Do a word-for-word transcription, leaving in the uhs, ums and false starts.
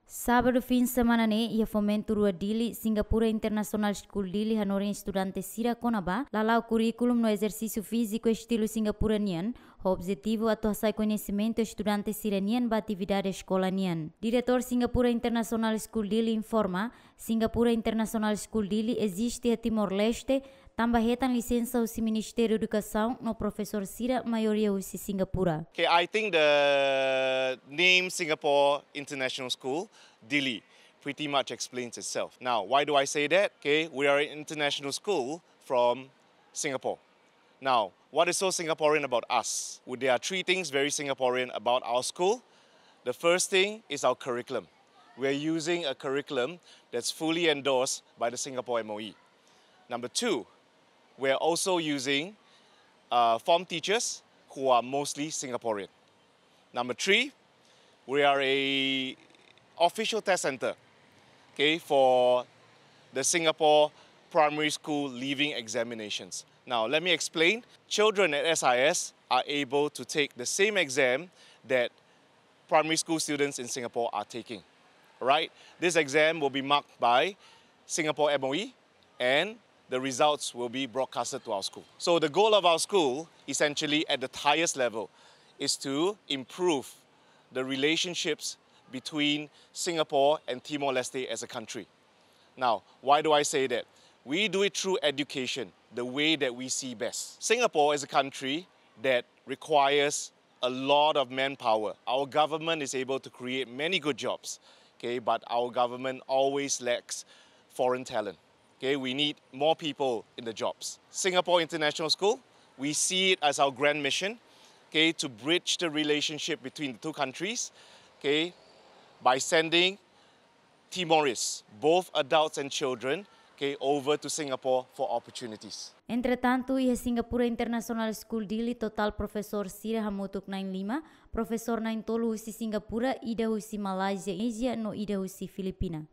Sábadu fin semana ne'e, iha Fomento Rua Dili, Singapura International School Dili hanorin estudante sira kona-ba lala'ok kurríkulu no ezersísiu fíziku estilu Singapura nian, ho objetivu atu hasai koñesimentu estudante sira nian ba atividade eskola nian. Diretór Singapura International School Dili informa, Singapura International School Dili eziste iha Timor-Leste, tanba hetan lisensa husi Ministériu Edukasaun no profesór sira maioria husi Singapura. Okay, I think the name Singapore International School, Dili, pretty much explains itself. Now, why do I say that? Okay, we are an international school from Singapore. Now, what is so Singaporean about us? Well, there are three things very Singaporean about our school. The first thing is our curriculum. We are using a curriculum that's fully endorsed by the Singapore M O E. Number two, we are also using uh, form teachers who are mostly Singaporean. Number three, we are a official test center, okay, for the Singapore primary school leaving examinations. Now, let me explain. Children at S I S are able to take the same exam that primary school students in Singapore are taking. Right? This exam will be marked by Singapore M O E, and the results will be broadcasted to our school. So the goal of our school, essentially at the highest level, is to improve the relationships between Singapore and Timor-Leste as a country. Now, why do I say that? We do it through education, the way that we see best. Singapore is a country that requires a lot of manpower. Our government is able to create many good jobs, okay, but our government always lacks foreign talent. Okay, we need more people in the jobs. Singapore International School, we see it as our grand mission, okay, to bridge the relationship between the two countries, okay, by sending Timorese, both adults and children, okay, over to Singapore for opportunities. Entretantu, iha Singapura International School Dili totál profesór sira hamutuk na'in lima, profesór na'in tolu husi Singapura, ida husi Malázia, Indonézia no ida husi Filipina.